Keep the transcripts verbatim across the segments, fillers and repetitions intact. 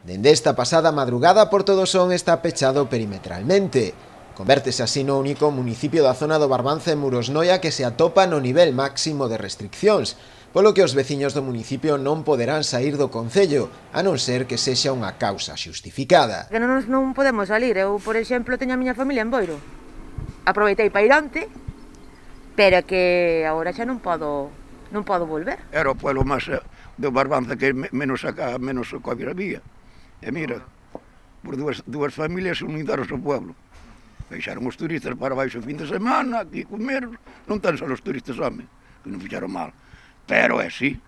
Dende esta pasada madrugada Porto do Son está pechado perimetralmente. Convértese así no único municipio da zona do Barbanza en Murosnoia que se atopa no nivel máximo de restriccións, polo que os veciños do municipio non poderán saír do concello, a non ser que sexa unha causa xustificada. Que non, non podemos salir. Eu, por exemplo, teño a miña familia en Boiro. Aproveitei para ir onte, pero que agora xa non podo, non podo volver. Era o pueblo máis do Barbanza que menos acá, menos Covid había. E mira, por dúas, dúas familias unidaron o pueblo. Deixaron os turistas para baixo o fin de semana, aquí comer, non tan só os turistas, home, que non fixaron mal. Pero é así,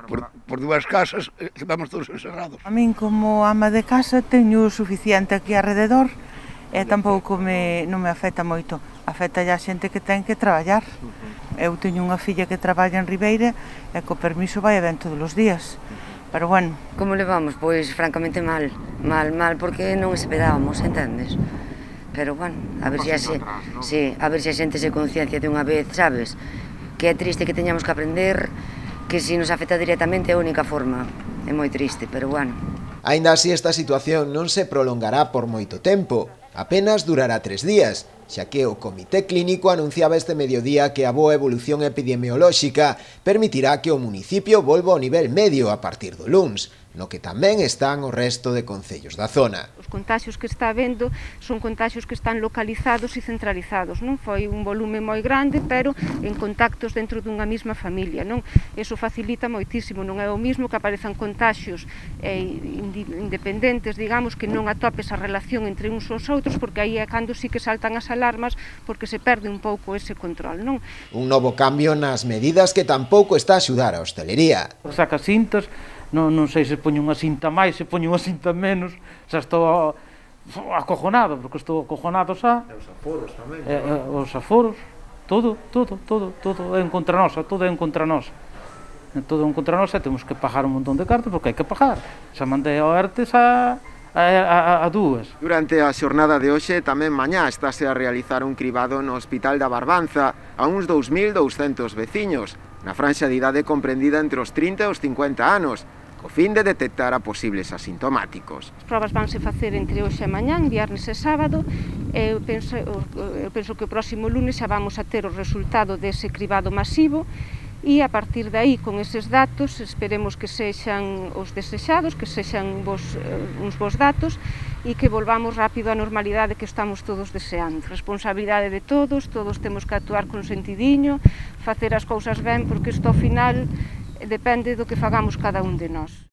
por, por dúas casas quedamos todos encerrados. A min como ama de casa teño o suficiente aquí alrededor e tampouco me, non me afecta moito. Afecta a xente que ten que traballar. Eu teño unha filla que traballa en Ribeira e co permiso vai e ven todos os días. Pero bueno. Como levamos? Pois francamente mal, mal, mal, porque non esperábamos, entendes? Pero bueno, a ver se si sí, a ver se a xente se conciencia de unha vez, sabes? Que é triste que teñamos que aprender que se nos afecta directamente é a única forma. É moi triste, pero bueno. Aínda así esta situación non se prolongará por moito tempo, apenas durará tres días, xa que o Comité Clínico anunciaba este mediodía que a boa evolución epidemiolóxica permitirá que o municipio volva ao nivel medio a partir do luns, no que tamén están o resto de concellos da zona. Os contaxios que está habendo son contaxios que están localizados e centralizados, non foi un volume moi grande, pero en contactos dentro dunha mesma familia, non? Eso facilita moitísimo, non é o mismo que aparezan contaxios eh, independentes, digamos, que non atopes a relación entre uns aos outros, porque aí é cando sí que saltan as alarmas, porque se perde un pouco ese control, non? Un novo cambio nas medidas que tampouco está a axudar a hostelería. Saca cintas, non, non sei se poño unha cinta máis, se poño unha cinta menos, xa estou acojonado, porque estou acojonado xa. E os aforos tamén. E, e, os aforos, todo, todo, todo, todo é en contra nosa, todo é en contra nosa. É todo en contra nosa, temos que pagar un montón de cartas, porque hai que pagar. Xa mandei ao ERTE xa a, a, a dúas. Durante a xornada de hoxe, tamén mañá, estáse a realizar un cribado no Hospital da Barbanza a uns dous mil douscentos veciños, na franxa de idade comprendida entre os trinta e os cincuenta anos, co fin de detectar a posibles asintomáticos. As probas vanse facer entre hoxe e mañán, viernes e sábado, e eu penso, eu penso que o próximo lunes xa vamos a ter o resultado dese cribado masivo, e a partir de aí, con eses datos, esperemos que sexan os desexados, que sexan vos, uns bons datos, e que volvamos rápido á normalidade que estamos todos deseando. Responsabilidade de todos, todos temos que actuar con sentidiño, facer as cousas ben, porque isto ao final depende do que fagamos cada un de nós.